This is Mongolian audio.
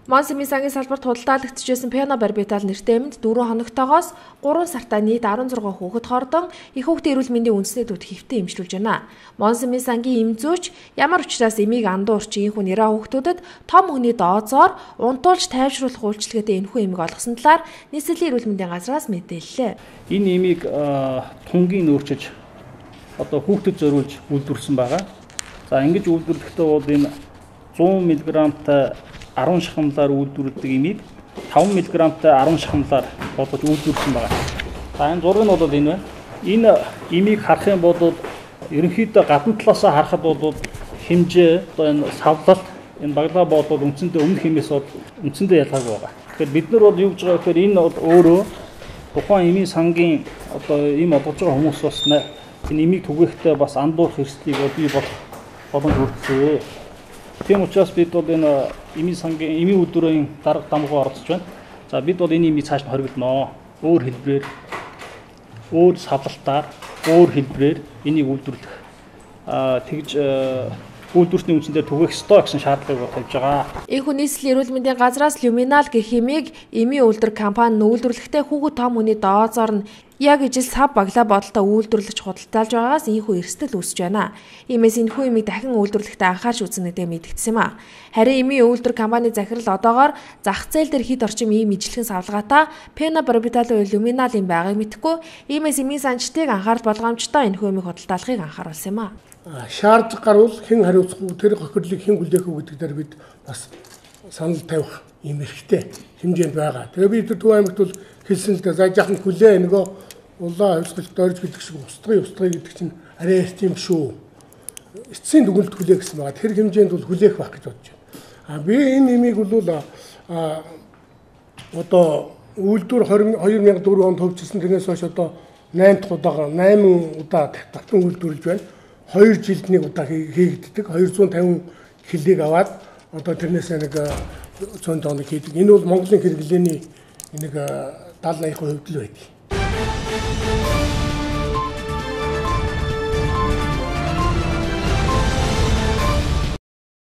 Монсемийн сангийн салбарт худалдаалагдчихсэн пенобарбитал нэртэй эмэнд 4 хоногтойгоос 3 сартаа нийт 16 хүүхэд хордон их хүүхдийн эрүүл мэндийн үндэсний төвд хэвтэн эмчилж байна. Монсемийн сангийн эмзүүч ямар учраас эмийг андуурч ийхүү нэраа хүүхдүүдэд том хүний дооцоор унтуулж тайвшруулах үйлчилгээтэй энэхүү эмийг олгосон талаар нийслэлийн эрүүл мэндийн газраас мэдээллээ. Энэ эмийг тунгийн нөөцөж одоо хүүхдэд зориулж үйлдвэрлэсэн байгаа. За ингэж үйлдвэрлэхдээ бол энэ 100 мг-тай 10 шахамлаар үйлдвэрлэдэг эмийг 5 мг-тай 10 шахамлаар бодож үйлдвэрлэсэн байна. За энэ зураг нь бол энэ байна. Энэ эмийг харах юм бол ерөнхийдөө гадна талаасаа харахад бол хэмжээ одоо энэ савлалт энэ баглаа бодвол үндсэндээ өмнөх хэмээс бол үндсэндээ ялгаагүй байгаа. Тэгэхээр бид нар бол юу гэж байгаа гэхээр энэ бол өөрөө тухайн эмийн сангийн одоо эм олгож байгаа хүмүүс бас энэ эмийг түгээхдээ бас андуурах эрсдлийг бий боломж үүсгэв. Тийм учраас бид бол энэ эмийн сангийн эмийн өдрийн дарга дамгуу оролцож байна. За бид бол энэ эмийг цааш нь хоригдноо. Өөр хэлбэрээр, өөр савлалтаар, өөр хэлбэрээр энийг үйлдвэрлэх тэгж үйлдвэртний үндсэндээ түгээх ёстой гэсэн шаардлагыг тавьж байгаа. Энэхүү нийслэлийн эрүүл мэндийн газраас Люминал гэх эмийг эмийн үйлдвэр компани үйлдвэрлэхдээ хүүхэд том хүний дооцоор нь яг ижил сав баглаа бодолтой үйлдвэрлэж худалдаалж байгаагаас энэхүү эрсдэл үүсэж байна. Иймээс энэхүү эмийг дахин үйлдвэрлэхдээ анхаарч үзнэ гэдэг мэдэгдсэн юм а. Харин эмийн үйлдвэр компани захирал одоогоор зах зээл дээр хэд орчим ийм ижилхэн савлгаатай пенобарбитал Люминал юм байгааг мэдэхгүй. Иймээс эмийн санчтыг анхаарал болгоомжтой энэхүү эмийг худалдаалахыг анхааруулсан юм а. Шаардлага гарвал хэн хариуцах уу, тэр хохирлыг хэн хүлээх үү гэдэг дээр бид бас санал тавих юм хэрэгтэй хэмжээнд байгаа. Тэгээ бид Төв аймагт бол хэлсэн л дээ за жаахан хүлээ нөгөө улаан хувьсгалт дөрж гэдэг шиг устгая гэдэг чинь арай эрт юм шүү. Эцсийн дүгнэлт хүлээх гэсэн байгаа. Тэр хэмжээнд бол хүлээх байх гэж бодож байна. Би энэ нэмийг бол одоо үйлдвэр 2004 онд хөгжсөн тэрнээс хойш одоо 8 удаа татан үйлдвэрлэж байна. 2 жилд нэг удаа хийгддэг. 250 килыг аваад одоо тэрнээс нэг 100 тоног хийдэг. Энэ бол Монголын хэрэглээний нэг 70-80% л байдаг.